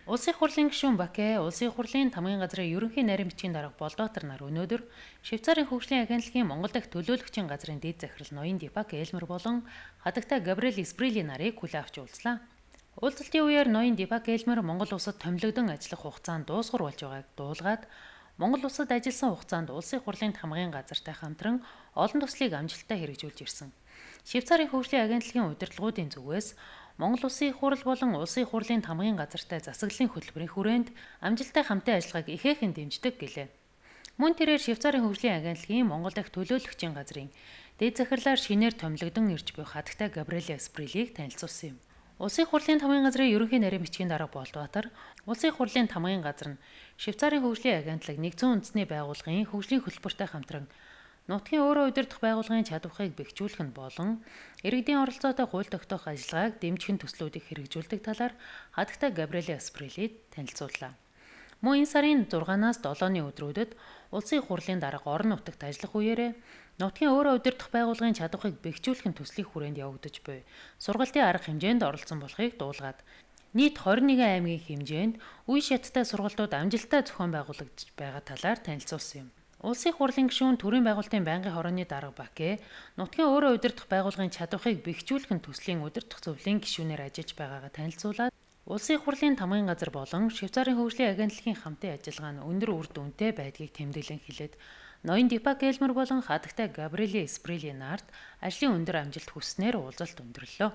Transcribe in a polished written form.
Улсын хурлын гишүүн Баке, улсын хурлын тамгын газрын ерөнхий нарийн бичгийн дарга Болдоотор нар өнөөдөр Швейцарын хөгжлийн агентлагийн Монгол дахь төлөөлөгчийн газрын дэд захирал ноён Дипак Элмер болон хатагтай Габриэл Сприли нарыг хүлээн авч уулзлаа. Уулзалтын үеэр ноён Дипак Элмер Монгол улсад томилогдсон ажиллах хугацаанд дуусгар болж байгааг дуулгаад Монгол улсад ажилласан хугацаанд улсын хурлын тамгын газартай хамтран олон төслийг амжилттай хэрэгжүүлж ирсэн. Швейцарын хөгжлийн агентлагийн удирдлагуудын зүгээс Монгол Улсын их хурл болон Улсын их хурлын тамгын газартай засаглалын хөтөлбөрийн хүрээнд амжилттай хамтын ажиллагааг ихээхэн дэмждэг гэлээ. Мөн тэрээр Швейцарын хөгжлийн агентлагийн Монгол дахь төлөөлөгчийн газрын дэд захирлаар шинээр томилогдсон ирж буй хатагтай Габриэл Сприлийг танилцуулсан юм. Улсын их хурлын тамгын газрын ерөнхий нарийн бичгийн дарга Болдоотор, Улсын их хурлын тамгын газар нь Швейцарын хөгжлийн агентлаг нэгдсэн үндэсний байгууллагын хөгжлийн хөтөлбөртэй хамтран нутгийн өөрөө удирдах байгууллагын чадварыг бэхжүүлэх нь болон иргэдийн оролцоотой хууль тогтоох ажиллагааг дэмжих төслүүдийг хэрэгжүүлдэг талаар хатагтай Габриэл Сприлид танилцууллаа. Мөн энэ сарын 6-наас 7-ны өдрүүдэд улсын их хурлын дарга орон нутагт ажиллах үеэрээ нутгийн өөрөө удирдах байгууллагын чадварыг бэхжүүлэх төслийн хүрээнд явагдаж буй сургалтын арга хэмжээнд оролцсон болохыг дуулгаад нийт 21 аймгийн хэмжээнд үе шаттай сургалтууд амжилттай зохион байгуулагдаж байгаа талаар танилцуулсан юм. Улсын их хурлын гишүүн төрийн байгуулалтын байнгын хорооны дарга Баке нутгийн өөрөө удирдах байгууллагын чадварыг бэхжүүлэх төслийн удирдах зөвлөлийн гишүүнээр ажиллаж байгаагаа танилцуулаад улсын их хурлын тамгын газар болон Швейцарын хөгжлийн агентлагийн хамтын ажиллагаа нь өндөр үр дүнтэй байдгийг тэмдэглэн хэлээд ноён Дипак Элмер болон хатагтай Габриэл Сприли нарт ажлын өндөр амжилт хүснээр уулзалт өндөрлөө.